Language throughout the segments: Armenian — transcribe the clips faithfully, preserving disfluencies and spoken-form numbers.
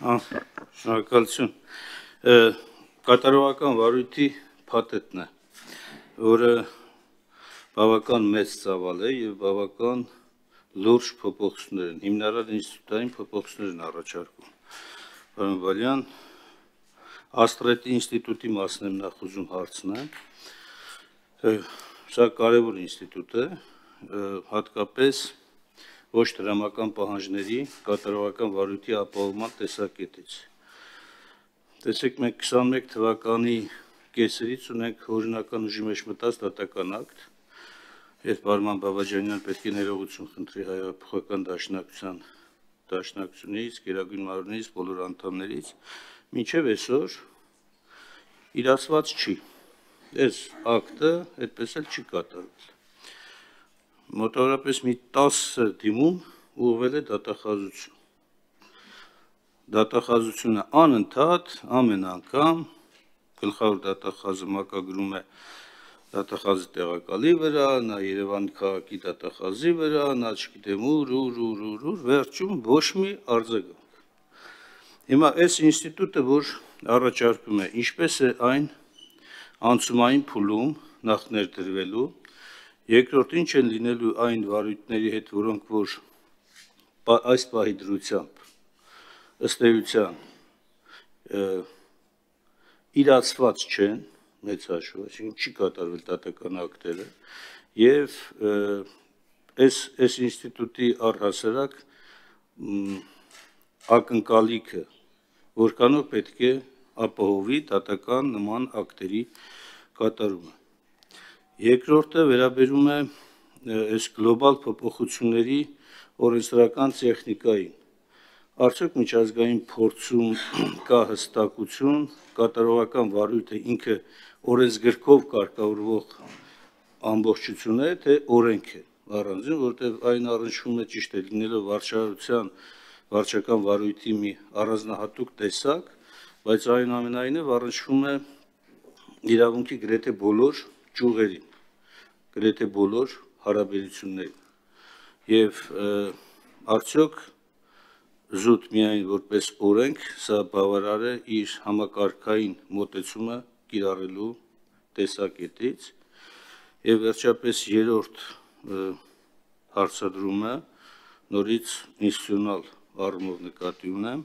Շնորհակալություն։ Կատարողական վարույթի փաթեթն է, որը բավական մեծ ծավալ է եւ բավական լուրջ փոփոխություններ են, հիմնարար ինստիտուտային փոփոխություններ են առաջարկում։ Պարոն Բալյան, Աստրետի ինստիտուտի մասն եմ նախ ուզում հարցնեմ։ Սա կարևոր ինստիտուտ է, հատկապես ոչ դրամական պահանջների կատարողական վարույթի ապահովման տեսակետից։ Տեսեք, մենք քսանմեկ թվականի կեսերից ունենք օրինական ուժի մեջ մտած դատական ակտ, երբ Արման Բաբաջանյան պետք է ներողություն խնդրի Հայահեղափոխական դաշնակցության դաշնակցությունից, Գերագույն մարմնից, բոլոր անդամներից, մինչև այսօր իրացված չի։ Այս ակտը այդպես էլ չի կատարվել։ Մոտավորապես մի տասը դիմում ուղղվել է դատախազություն։ Դատախազությունը անընդհատ ամեն անգամ գլխավոր դատախազը մակագրում է դատախազի տեղակալի վրա, նա Երևանի քաղաքի դատախազի վրա, նա չգիտեմ ուր, ուր, ուր, ուր, ուր, վերջում ոչ մի արձագանք։ Հիմա այս ինստիտուտը, որ առաջարկում է, ինչպես է այն անցումային փուլում նախ ներդրվելու, երկրորդ ինչ են լինելու այն վարույթների հետ, որոնք որ այս պահի դրությամբ ըստ էության իրացված չեն, մեծ հաշվով, այսինքն չի կատարվել դատական ակտերը, եւ այս այս ինստիտուտի առհասարակ ակնկալիքը, որքանով պետք է ապահովի դատական նման ակտերի կատարումը։ Երկրորդը վերաբերում է այս գլոբալ փոփոխությունների օրենսդրական տեխնիկային։ Արդյոք միջազգային փորձում կա հստակություն, կատարողական վարույթը ինքը օրենսգրքով կարգավորվող ամբողջություն է, թե օրենք է առանձին, որտեղ այն առնչվում է ճիշտ է լինելով վարչարության վարչական վարույթի մի առանձնահատուկ տեսակ, բայց այնուամենայնիվ առնչվում է իրավունքի գրեթե բոլոր ճյուղերին, գրեթե բոլոր հարաբերություններին։ Եվ արդյոք զուտ միայն որպես օրենք, սա բավարար է իր համակարգային մոտեցումը կիրառելու տեսակետից։ Եվ վերջապես երրորդ հարցադրումը նորից ինստիտուցիոնալ առումով նկատի ունեմ,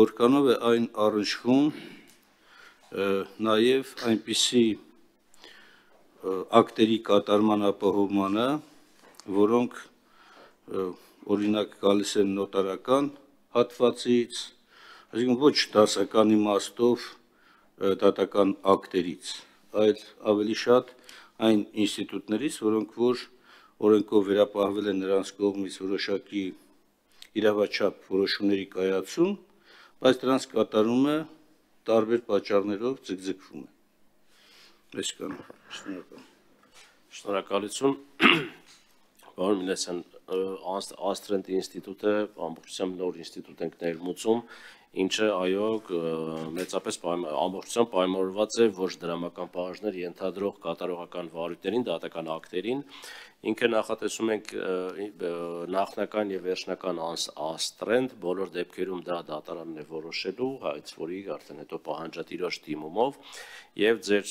որքանով է այն առնչվում նաև այնպիսի ակտերի կատարման ապահովմանը, որոնք օրինակ գալիս են նոտարական հատվածից, այսինքն ոչ դասական իմաստով դատական ակտերից, այլ ավելի շատ այն ինստիտուտներից, որոնք որ օրենքով վերապահվել են նրանց կողմից որոշակի իրավաչափ որոշումների կայացում, բայց դրանց կատարումը տարբեր պատճառներով ձգձգվում է։ Այսքանը, շնորհակալ։ Շնորհակալություն։ Պարոն Մինասյան, Աստրենտի ինստիտուտը ամբողջությամբ նոր ինստիտուտ ենք ներմուծում, ինչը այո մեծապես ամբողջությամբ պայմանավորված է ոչ դրամական պահանջներ ենթադրող կատարողական վարույթներին, դատական ակտերին, ինքը նախատեսում ենք նախնական եւ վերջնական աստրենտ, բոլոր դեպքերում դա դատարանն է որոշելու, հայց որի արդեն հետո պահանջատիրոջ դիմումով, եւ ձեր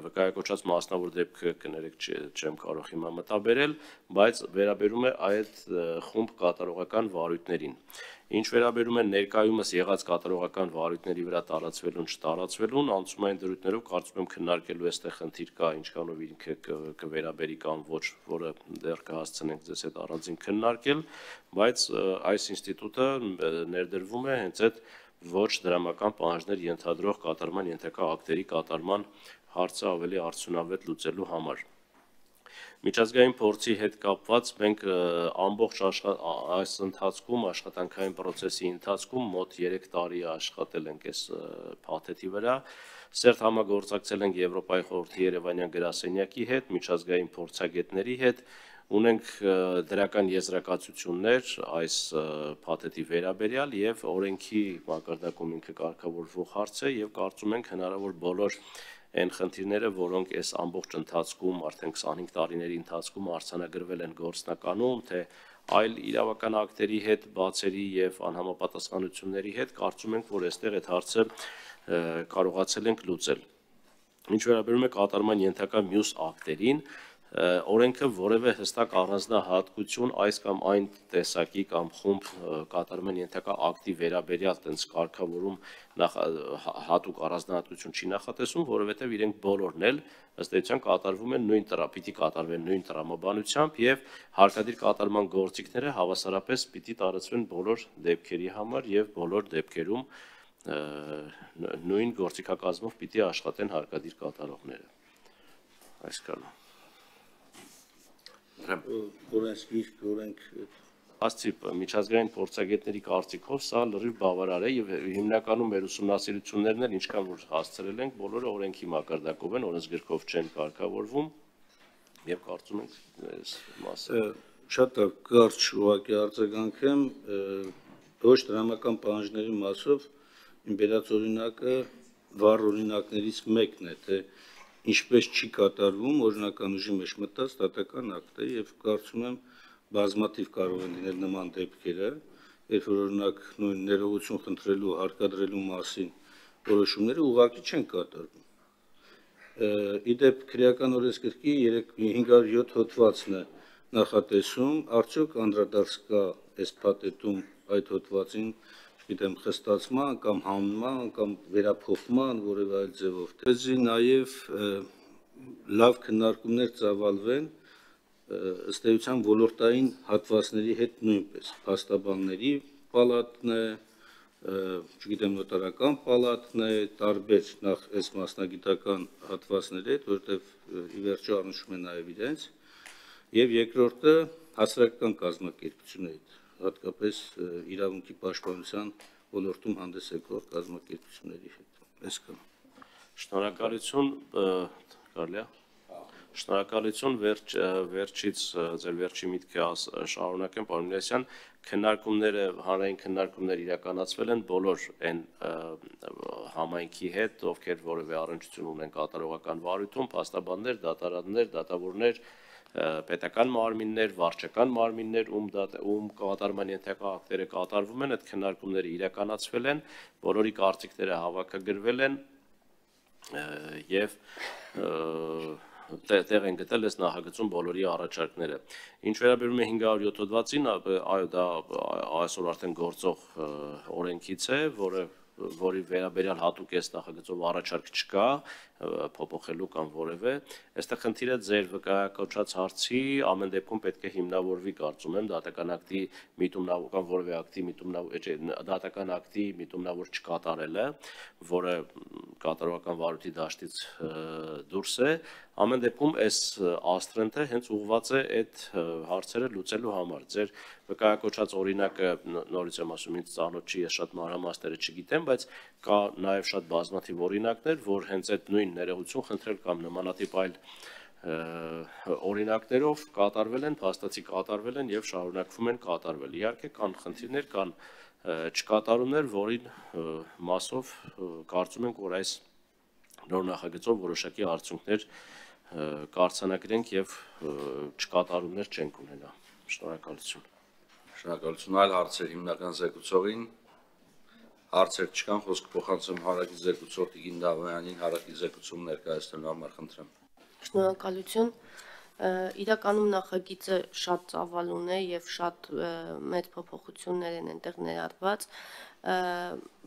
վկայակոչած մասնավոր դեպքը կներեք չեմ կարող հիմա մտաբերել, բայց վերաբերում է այդ խումբ կատարողական վարույթներին։ Ինչ վերաբերում է ներկայումս եղած կատարողական վարույթների վրա տարածվելուն, չտարածվելուն, անցումային դրույթներով կարծում եմ քննարկելու այստեղ խնդիր կա, ինչքանով ինքը կվերաբերի կամ ոչ, որը դեռ կհասցնենք ձեզ հետ առանձին քննարկել, բայց այս ինստիտուտը ներդրվում է հենց այդ ոչ դրամական պահանջներ ենթադրող կատարման ենթակա ակտերի կատարման հարցը ավելի արդյունավետ լուծելու համար։ Միջազգային փորձի հետ կապված մենք ամբողջ այս ընթացքում աշխատանքային process-ի ընթացքում մոտ երեք տարի աշխատել ենք այս փաթեթի վրա, սերտ համագործակցել ենք Եվրոպայի խորհրդի Երևանյան գրասենյակի հետ, միջազգային փորձագետների հետ, ունենք դրական եզրակացություններ այս փաթեթի վերաբերյալ եւ օրենքի մակարդակում ինքը կարգավորվող հարց է եւ կարծում ենք հնարավոր բոլոր այն խնդիրները, որոնք այս ամբողջ ընթացքում արդեն քսանհինգ տարիների ընթացքում արձանագրվել են գործնականում, թե այլ իրավական ակտերի հետ, բացերի եւ անհամապատասխանությունների հետ, կարծում ենք, որ այստեղ այդ հարցը կարողացել ենք լուծել։ Ինչ վերաբերում է կատարման ենթակա մյուս ակտերին, օրենքը որևէ հստակ առանձնահատկություն այս կամ այն տեսակի կամ խումբ կատարման ենթակա ակտի վերաբերյալ տենց կարգավորում հատուկ առանձնահատկություն չի նախատեսում, որովհետև իրենք բոլորն էլ ըստ էության կատարվում են նույն տրա, պիտի կատարվեն նույն տրամաբանությամբ եւ հարկադիր կատարման գործիքները հավասարապես պիտի տարածվեն բոլոր դեպքերի համար եւ բոլոր դեպքերում նույն գործիքակազմով պիտի աշխատեն հարկադիր կատարողները։ Այսքանը։ Օրենսգիր օրենք Աստի միջազգային փորձագետների կարծիքով սա լրիվ բավարար է եւ հիմնականում մեր ուսումնասիրություններն էլ ինչքան որ հասցրել ենք, բոլորը օրենքի մակարդակով են, օրենսգրքով չեն կարգավորվում եւ կարծում ենք այս մասը շատ կարճ ուղղակի արձագանքեմ ոչ դրամական պահանջների մասով իմ բերած օրինակը վառ օրինակներից մեկն է, թե ինչպես չի կատարվում օրինական ուժի մեջ մտած դատական ակտը եւ կարծում եմ բազմաթիվ կարող են լինել նման դեպքերը, երբ որ օրինակ նույն ներողություն խնդրելու, հարկադրելու մասին որոշումները ուղղակի չեն կատարվում։ Իդեպ քրեական օրենսգրքի հինգ հարյուր յոթ հոդվածն է նախատեսում, արդյոք անդրադարձ կա այս փաթեթում այդ հոդվածին, չգիտեմ, խստացման կամ հանման կամ վերափոխման որևէ այլ ձևով, դեզի նաև լավ քննարկումներ ծավալվեն ըստ էության ոլորտային հատվածների հետ նույնպես, փաստաբանների պալատն է, չգիտեմ, նոտարական պալատն է, տարբեր նախ այս մասնագիտական հատվածների հետ, որովհետև ի վերջո առնչվում է նաև իրենց, եւ երկրորդը հասարակական կազմակերպությունների հետ, հատկապես իրավունքի պաշտպանության ոլորտում հանդես եկող կազմակերպությունների հետ։ Այսքան։ Շնորհակալություն, կարելի է։ Շնորհակալություն, վերջ վերջից ձեր վերջի միտքը շարունակեմ, պարոն Միլոսյան, քննարկումները, հանրային քննարկումներ իրականացվել են բոլոր այն համայնքի հետ, ովքեր որևէ առնչություն ունեն կատարողական վարույթում, փաստաբաններ, դատարաններ, դատավորներ, պետական մարմիններ, վարչական մարմիններ, ում ում կատարման ենթակա ակտերը կատարվում են, այդ քննարկումները իրականացվել են, բոլորի կարծիքները հավաքագրվել են եւ տեղ են գտել այս նախագծում բոլորի առաջարկները։ Ինչ վերաբերում է հինգ հարյուր յոթ հոդվածին, այո, դա այսօր արդեն գործող օրենքից է, որը որի վերաբերյալ հատուկ այս նախագծով առաջարկ չկա, փոփոխելու կամ որևէ, այստեղ խնդիրը ձեր վկայակոչած հարցի ամեն դեպքում պետք է հիմնավորվի, կարծում եմ, դատական ակտի միտումնավոր կամ որևէ ակտի միտումնավոր, դատական ակտի միտումնավոր չկատարելը, որը կատարողական վարույթի դաշտից դուրս է, ամեն դեպքում այս աստրենտը հենց ուղղված է այդ հարցերը լուծելու համար։ Ձեր վկայակոչած օրինակը նորից եմ ասում, ինձ ծանոթ չի, ես շատ մանրամասները չգիտեմ, բայց կա նաև շատ բազմաթիվ օրինակներ, որ հենց այդ նույն ներողություն խնդրել կամ նմանատիպ այլ օրինակներով կատարվել են, փաստացի կատարվել են եւ շարունակվում են կատարվել։ Իհարկե կան խնդիրներ, կան չկատարումներ, որին մասով կարծում ենք, որ այս նոր նախագծով որոշակի արդյունքներ կարձանագրենք եւ չկատարումներ չենք ունենա։ Շնորհակալություն։ Շնորհակալություն, այլ հարցեր հիմնական զեկուցողին, հարցեր չկան, խոսքը փոխանցում հարակից զեկուցող Տիգին Դավոյանին, հարակից զեկուցում ներկայացնելու համար խնդրեմ։ Շնորհակալություն։ Իրականում նախագիծը շատ ծավալուն է եւ շատ մեծ փոփոխություններ են այնտեղ ներառված։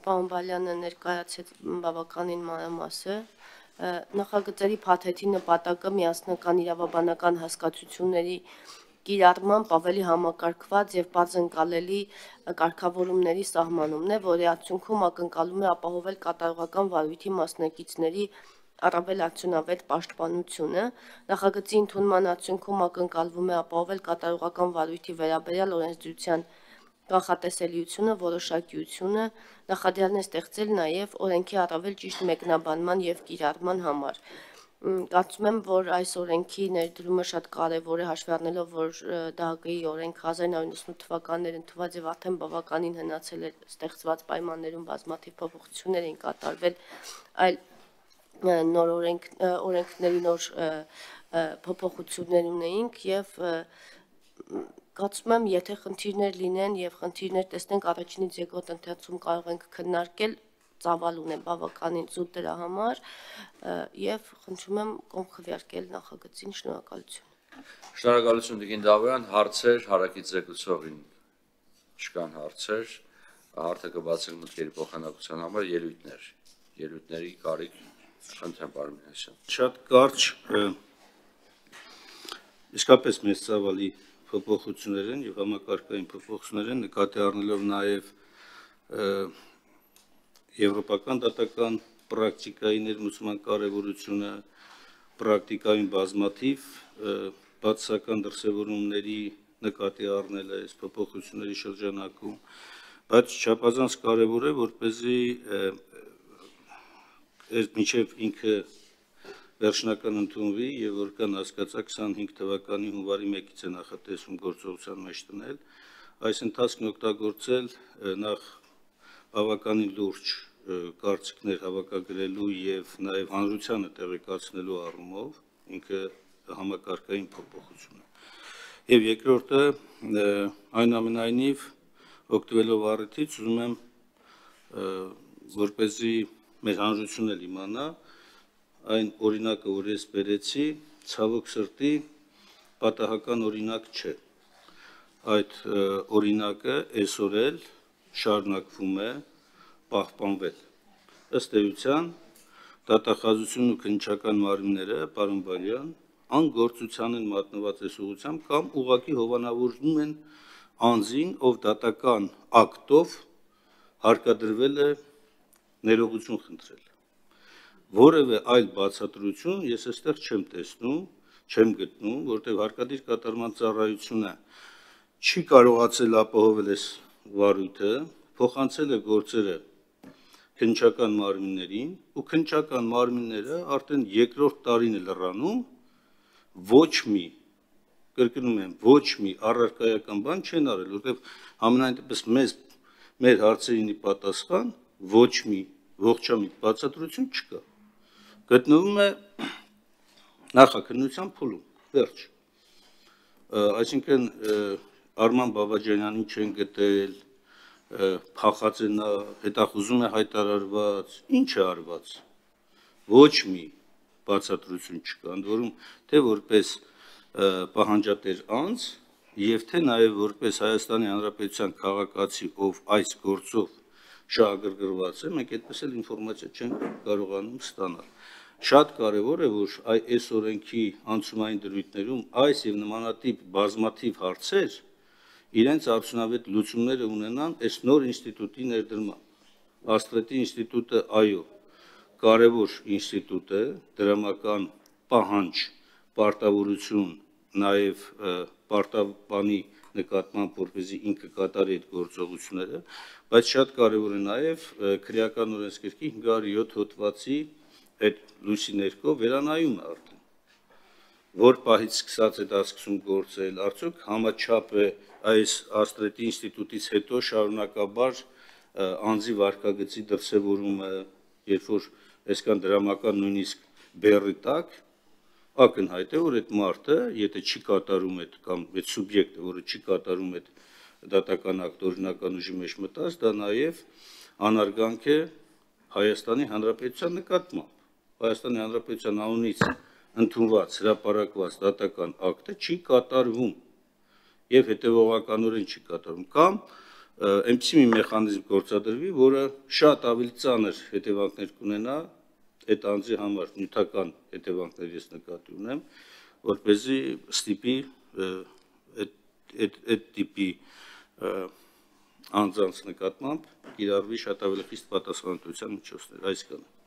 Պարոն Բալյանը ներկայացրեց բավականին մանրամասը։ Նախագծերի փաթեթի նպատակը միասնական իրավաբանական հասկացությունների կիրառմամբ ավելի համակարգված եւ բաց ընկալելի կարգավորումների սահմանումն է, որի արդյունքում ակնկալում է ապահովել կատարողական վարույթի մասնակիցների առավել արդյունավետ պաշտպանությունը։ Նախագծի ընդունման արդյունքում ակնկալվում է ապահովել կատարողական վարույթի վերաբերյալ օրենսդրության կանխատեսելիությունը, որոշակիությունը, նախադյալ է ստեղծել նաև օրենքի առավել ճիշտ մեկնաբանման եւ կիրառման համար։ Կարծում եմ, որ այս օրենքի ներդրումը շատ կարևոր է, հաշվի առնելով, որ ԴՀԿ-ի օրենք հազար նոյ հարյուր իննսունութ թվականներ ընդունված եւ արդեն բավականին հնացել է ստեղծված պայմաններում բազմաթիվ փոփոխություններ են կատարվել, այլ նոր օրենք օրենքների նոր փոփոխություններ ունեինք եւ Կարծում եմ, եթե խնդիրներ լինեն եւ խնդիրներ տեսնենք առաջինից երկրորդ ընթացքում կարող ենք քննարկել, ծավալուն է բավականին զուտ դրա համար եւ խնդրում եմ կողմ քվեարկել նախագծին, շնորհակալություն։ Շնորհակալություն Տիկին Դավոյան, հարցեր հարակից զեկուցողին չկան հարցեր, հարթը կբացենք մտքերի փոխանակության համար ելույթներ, ելույթների կարիք խնդրեմ պարոն Մինասյան։ Շատ կարճ իսկապես մեծ ծավալի փոփոխություններ են եւ համակարգային փոփոխություններ են նկատի առնելով նաեւ եվրոպական դատական պրակտիկայի ներմուծման կարևորությունը, պրակտիկային բազմաթիվ բացասական դրսևորումների նկատի առնելը այս փոփոխությունների շրջանակում, բայց չափազանց կարևոր է, որպեսզի մինչև ինքը վերջնական ընդունվի եւ որքան հասկացա քսանհինգ թվականի հունվարի մեկից է նախատեսում գործողության մեջ տնել, այս ընթացքն օգտագործել նախ բավականին լուրջ կարծիքներ հավաքագրելու եւ նաեւ հանրությանը տեղեկացնելու առումով ինքը համակարգային փոփոխություն է։ Եվ երկրորդը այնուամենայնիվ օգտվելով առիթից ուզում եմ որպեսզի մեր հանրությունն էլ իմանա այն օրինակը, որ ես բերեցի, ցավոք սրտի պատահական օրինակ չէ։ Այդ օրինակը այսօր էլ շարունակվում է պահպանվել։ Ըստ էության դատախազությունն ու քննչական մարմինները, պարոն Բալյան, անգործության են մատնված այս ուղղությամբ կամ ուղղակի հովանավորում են անձին, ով դատական ակտով հարկադրվել է ներողություն խնդրել։ Որևէ այլ բացատրություն ես այստեղ չեմ տեսնում, չեմ գտնում, որտեղ հարկադիր կատարման ծառայությունը չի կարողացել ապահովել այս վարույթը, փոխանցել է գործերը քննչական մարմիններին ու քննչական մարմինները արդեն երկրորդ տարին է լրանում ոչ մի, կրկնում եմ, ոչ մի առարկայական բան չեն արել, որտեղ համենայնդեպս մեզ մեր հարցերինի պատասխան ոչ մի ողջամիտ բացատրություն չկա։ Գտնվում է նախաքննության փուլում, վերջ։ Այսինքն Արման Բաբաջանյանին չեն գտել, փախած է նա, հետախուզում է հայտարարված, ինչ է արված։ Ոչ մի բացատրություն չկա, ընդ որում թե որպես պահանջատեր անձ եւ թե նաեւ որպես Հայաստանի Հանրապետության քաղաքացի, ով այս գործով շահագրգռված է, մենք այդպես էլ ինֆորմացիա չենք կարողանում ստանալ։ Շատ կարևոր է, որ այս օրենքի անցումային դրույթներում այս եւ նմանատիպ բազմաթիվ հարցեր իրենց արդյունավետ լուծումները ունենան այս նոր ինստիտուտի ներդրմամբ։ Աստրետի ինստիտուտը, այո, կարևոր ինստիտուտ է, դրամական պահանջ, պարտավորություն, նաեւ պարտապանի նկատմամբ, որպեսզի ինքը կատարի այդ գործողությունները, բայց շատ կարևոր է նաեւ քրեական օրենսգրքի հինգ հարյուր յոթ հոդվածի այդ լույսի ներքո վերանայումը արդեն, որ պահից սկսած է դա սկսում գործել, արդյոք համաչափ է այս Աստրետի ինստիտուտից հետո շարունակաբար անձի վարքագծի դրսևորումը, երբ որ այսքան դրամական նույնիսկ բեռի տակ, ակնհայտ է, որ այդ մարդը, եթե չի կատարում այդ կամ այդ սուբյեկտը, որը չի կատարում այդ դատական ակտ օրինական ուժի մեջ մտած, դա նաև անարգանք է Հայաստանի Հանրապետության նկատմամբ։ Հայաստանի Հանրապետության անունից ընդունված հրապարակված դատական ակտը չի կատարվում եւ հետեւողականորեն չի կատարվում կամ այնպիսի մի մեխանիզմ գործադրվի, որը շատ ավելի ծանր հետևանքներ կունենա այդ անձի համար, նյութական հետևանքներ ես նկատի ունեմ, որպեսզի ստիպի այդ տիպի անձանց նկատմամբ կիրառվի շատ ավելի խիստ պատասխանատվության միջոցներ, այսքանը։